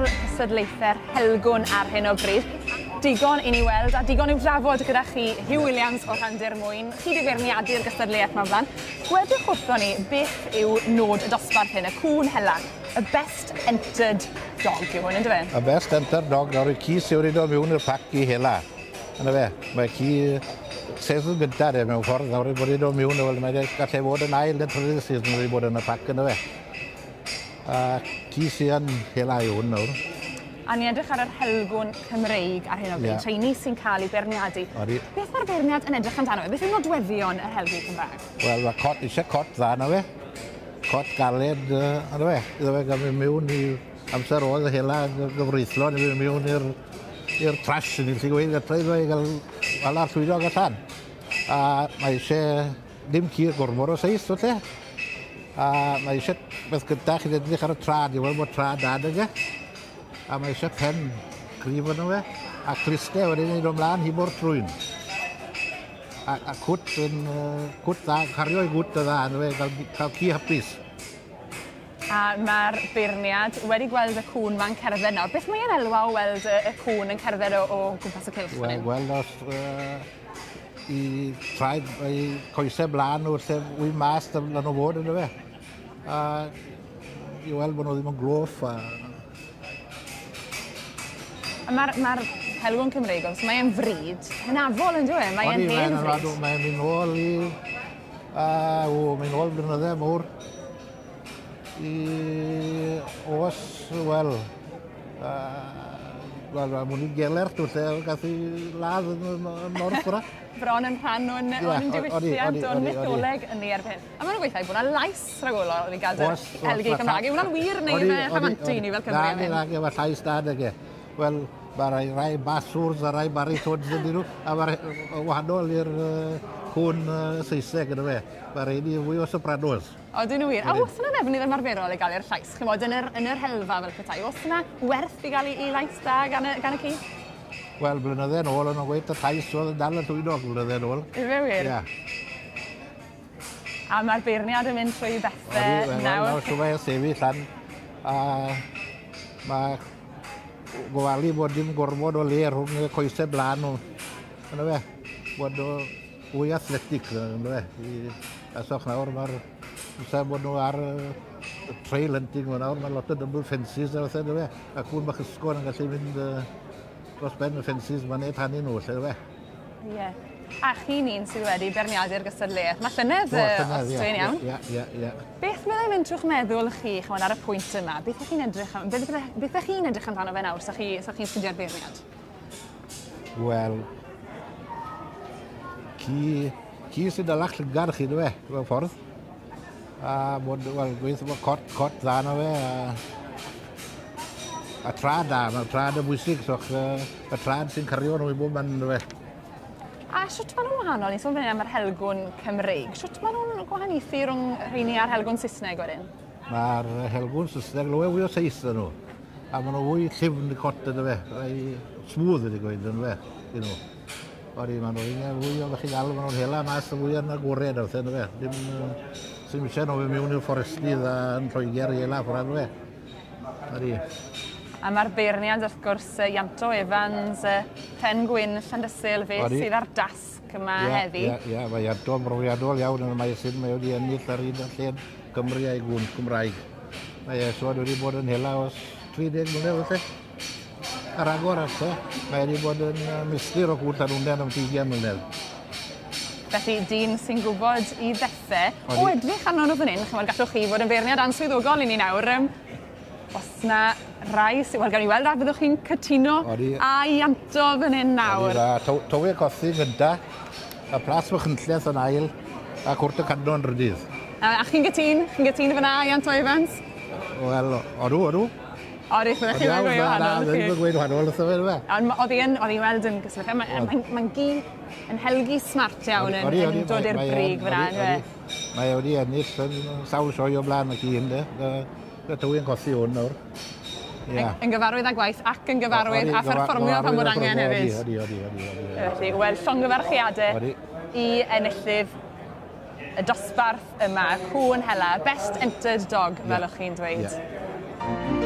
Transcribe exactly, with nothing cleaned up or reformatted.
nghanol cystadlaethau'r Helgwn ar hyn o bryd. Digon i ni weld a digon i'w drafod gyda chi, Huw Williams o Rhandir Mwyn. Chi 'di beirniadu'r gystadleuaeth 'ma o blaen. Gwedwch wrthon ni beth yw nod y dosbarth hyn, y cŵn hela. Y best entered dog yw hwn, yndyfe? Y best entered dog, nawr y ci sydd wedi dod mewn i'r pac i hela. Yna fe, mae ci season gyntaf de mewn ffordd, nawr bod wedi dod mewn, wel, mae gallai fod yn ail neu trydydd season wedi bod yn y pac yna fe. A ci sydd yn hela yw hwn nawr. A ni'n edrych ar yr Helgwn Cymreig ar hyn o bryd, yeah. Rheini sy'n cael ei beirniadu. Odi. Beth mae'r beirniad yn edrych amdano fe? Beth yw nodweddion yr Helgwn Cymraeg? Wel, mae cot, eisiau cot dda na fe. Cot galed, uh, yna fe. Iddo fe gael mynd mewn i amser oedd y hela gyfreithlon, i fynd mewn i'r i'r trash, ni'n gallu gweud, gallai iddo i gael hala'r llwynog allan. A mae eisiau ddim ci gormod o seis, felly. A mae eisiau beth gyda chi'n edrych ar y trad, i weld bod trad da nag e. A mae eisiau pen cryf yno fe, a clustau wedyn ni'n dod ymlaen hibo'r trwyn. A, a cwt yn, uh, cwt dda, cario i gwt y dda, yno fe, cael, cael ci hapus. A mae'r beirniad wedi gweld y cŵn ma'n cerdded nawr. Beth mae'n elwa o weld y, y cŵn yn cerdded o, o gwmpas y cylch fan Wel, hyn? gweld os uh, i traed, i coesau blaen nhw, lle wy mas dyna nhw fod yno fe. A i weld bod nhw ddim yn gloff. A... A mae'r ma Helgwn Cymreig, os mae'n fryd hynafol yn dwi? Mae'n Odi, hen mae'n fryd. Mae'n mynd nôl i... Uh, o, mynd nôl blynydde mawr. I os, wel, uh, wel, mae mwyn Gelert, lle gath i ladd yn, yn, yn North fora. Bron yn rhan o'n, Ie, o'n odi, diwylliant, odi, o'n odi, odi. mytholeg yn ni erbyn hyn. A maen nhw'n gweithio bod yna lais rhagolol i gael Oes, oes, Helgi ma' Cymraeg. Yw hwnna'n wir neu Odi, fe odi, rhamantu odi. ni fel Cymru am Na, hyn? na, mae llais da nag e. Wel, mae rai, rai baswrs a rai baritones yn nhw, a mae'r wahanol i'r uh, cwn uh, Saesneg yna fe. Mae rheini fwy o sopranos. Odyn nhw wir. A oes yna ddefnydd ymarferol i gael i'r llais? Chymod, yn yr, yn yr helfa fel petai, oes yna werth i gael i, i lais da gan y, gan y ci? Wel, blynydde yn ôl, o'n nhw'n gweud y llais oedd yn dal y llwynog blynydde yn ôl. Ife wir? Ie. A mae'r beirniad yn mynd trwy Odi, bethau wel, nawr. nawr shwt mae sefyll lan, a mae gofalu bod dim gormod o le rhwng y coesau blaen nhw. Yna fe, bod nhw fwy athletic, yna fe. I, asoch nawr, mae'r amser bod nhw ar y trail hunting ma nawr, mae lot o double fences a fath yna fe. A cwn bach ysgol yn gallu mynd uh, dros ben y fences, mae'n neud tannu nhw, lle fe. Ie. A chi'n un sydd wedi beirniadu'r gystadleuaeth. Mae llynedd, O, yy, llynedd, os ie, dwi'n iawn. Ie, ie, ie. Beth meddai mynd trwy'ch meddwl chi, chymod, ar y pwynt yma? Beth ych chi'n edrych am, beth, beth, beth ych chi'n edrych amdano fe nawr, sa chi, sa chi'n studio'r beirniad? Wel, ci, ci sy'n dalach llygad chi, dwi fe, mewn ffordd. A bod, wel, gweithio bod cot, cot dda na fe, a, a trad da, mae'r trad yn bwysig, so uh, y trad sy'n cario nhw i bob man, dwi fe. A shwt maen nhw'n wahanol? Ni'n sôn fan hyn am yr Helgwn Cymreig. Shwt maen nhw'n gwahaniaethu rhwng rheini a'r Helgwn Saesneg wedyn? Mae'r helgwn Saesneg lawer fwy o seis yn nhw. A maen nhw fwy llyfn y cot yna fe. Rai smooth ydy gweud yn fe, i nhw. Odi, maen nhw'n fwy o chi gael, maen nhw'n hela mas y fwy yn agored a yna fe. Dim, uh, sy'n eisiau nhw fynd mewn i'r fforestydd a yn Lloegr i hela ffordd fe. Odi. A mae'r beirniad wrth gwrs yy, Ianto Evans, yy, Pen Gwyn Llandysul, fe Odi. sydd ar dasg yma Ie, heddi. Ie, ie, mae Ianto yn brofiadol iawn yn y maes hyn. Mae wedi ennill ar un lled Cymru a'i gwn Cymraeg. Mae e so wedi bod yn hela os tri deg mlynedd felly. A ragor ato, mae wedi bod yn uh, milltir o cwn Llanwnnen am ugain mlynedd. Felly, dyn sy'n gwybod i ddethau. Odi. O edrych arno nhw fan hyn, chymod, gallwch chi fod yn feirniad answyddogol i ni nawr. Um, os na rai sydd... Wel, gawn ni weld a fyddwch chi'n cytuno Odi. â Ianto fan hyn nawr. Odi, a Tywi Cothi gynta, a Plas Machynlleth yn ail, a Cwrt y Cadno yn drydydd. A, a chi'n gytûn? Chi'n gytûn fyna, Ianto Evans? Wel, odw, odw. Odi, byddech chi'n gweud Na, wahanol. ddim yn gweud wahanol, wrtho fe, fe. Ond ma- oedd hi yn, oedd hi'n weld yn gyswllt. Mae'n mae, mae gi yn helgi smart iawn yn, yn dod i'r brig fyna. Odi, odi. Mae wedi ennill yn sawl sioe o blaen y ci hyn, de. Y Tywi yn Cothi hwn nawr. Ie. Yn, yn gyfarwydd â gwaith ac yn gyfarwydd â pherfformio pan bod angen hefyd. Odi, odi, odi, odi. Felly, wel, llongyfarchiadau Odi. i enillydd y dosbarth yma, cŵn hela, best entered dog, fel o'ch chi'n dweud. Ie.